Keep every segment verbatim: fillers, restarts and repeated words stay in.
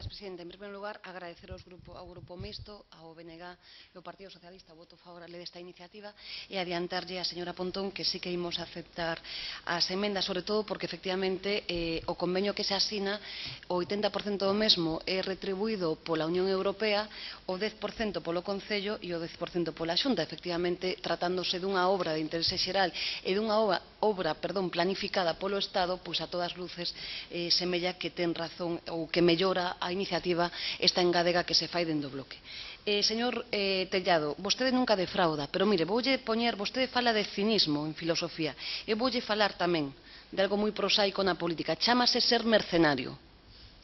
Presidenta. En primeiro lugar, agradecer aos grupo, ao Grupo Mixto, ao B N G e ao Partido Socialista o voto favorable desta iniciativa e adiantarlle á señora Pontón que sí que imos aceptar as emendas, sobre todo porque, efectivamente, eh, o convenio que se asina, o oitenta por cento do mesmo é retribuído pola Unión Europea, o dez por cento polo Concello e o dez por cento pola Xunta. Efectivamente, tratándose dunha obra de interese xeral e dunha obra, obra perdón, planificada polo Estado, pois a todas luces eh, semella que ten razón ou que mellora a iniciativa esta engadega que se fai dende o bloque. Eh, señor eh, Tellado, vostede nunca defrauda, pero mire, voulle poñer, vostede fala de cinismo en filosofía, e voulle falar tamén de algo moi prosaico na política, chámase ser mercenario.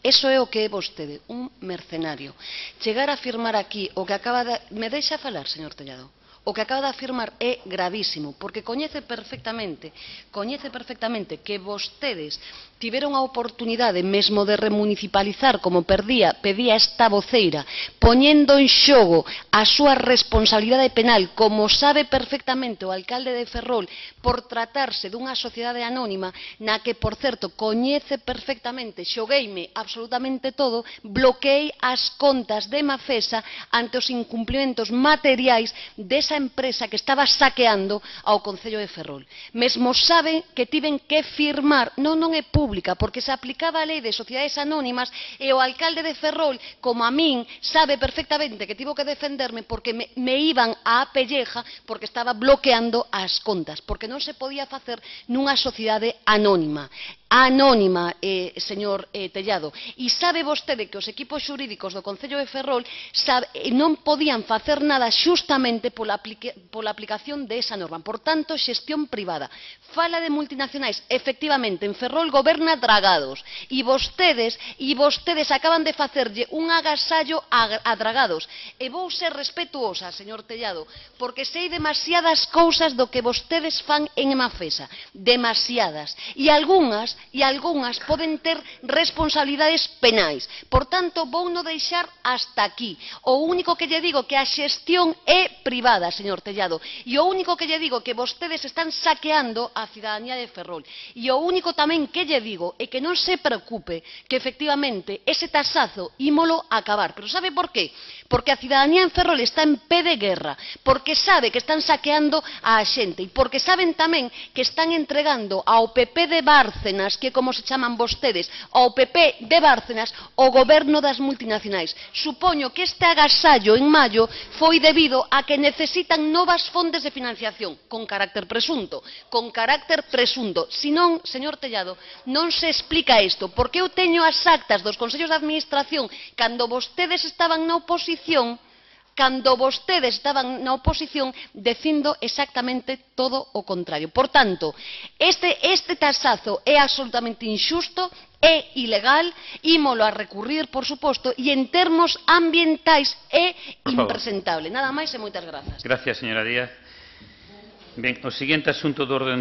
Eso é o que é vostede, un mercenario. Chegar a afirmar aquí o que acaba de... Me deixa falar, señor Tellado? O que acaba de afirmar é gravísimo, porque coñece perfectamente, coñece perfectamente que vostedes tiveron a oportunidade mesmo de remunicipalizar, como perdía, pedía esta voceira, poñendo en xogo a súa responsabilidade penal, como sabe perfectamente o alcalde de Ferrol, por tratarse dunha sociedade anónima, na que, por certo, coñece perfectamente, xogueime absolutamente todo, bloqueei as contas de Mafesa ante os incumplimentos materiais desa empresa que estaba saqueando ao Concello de Ferrol. Mesmo saben que tiven que firmar, non, non é pública, porque se aplicaba a lei de sociedades anónimas e o alcalde de Ferrol, como a min, sabe perfectamente que tivo que defenderme porque me, me iban á pelleja porque estaba bloqueando as contas, porque non se podía facer nunha sociedade anónima. Anónima, eh, señor eh, Tellado. E sabe vostede que os equipos xurídicos do Concello de Ferrol sabe, non podían facer nada xustamente pola, aplica, pola aplicación de esa norma. Por tanto, xestión privada. Fala de multinacionais. Efectivamente, en Ferrol goberna Dragados. E vostedes, e vostedes acaban de facerlle un agasallo a, a Dragados. E vou ser respetuosa, señor Tellado, porque sei demasiadas cousas do que vostedes fan en Mafesa. Demasiadas. E algunhas e algunhas poden ter responsabilidades penais. Por tanto, vou non deixar hasta aquí. O único que lle digo que a xestión é privada, señor Tellado. E o único que lle digo que vostedes están saqueando a cidadanía de Ferrol. E o único tamén que lle digo é que non se preocupe que, efectivamente, ese tasazo ímolo acabar. Pero sabe por qué? Porque a cidadanía en Ferrol está en pé de guerra. Porque sabe que están saqueando a xente. E porque saben tamén que están entregando ao P P de Bárcenas, que como se chaman vostedes, ao P P de Bárcenas, o goberno das multinacionais. Supoño que este agasallo en maio foi debido a que necesitan novas fontes de financiación, con carácter presunto, con carácter presunto. Si non, señor Tellado, non se explica isto, porque eu teño as actas dos consellos de administración cando vostedes estaban na oposición, cando vostedes estaban na oposición dicindo exactamente todo o contrario. Por tanto, este, este tasazo é absolutamente injusto, é ilegal, ímolo a recurrir, por suposto, e en termos ambientais é impresentable. Nada máis e moitas grazas. Gracias, señora Díaz. Ben, o seguinte asunto do orden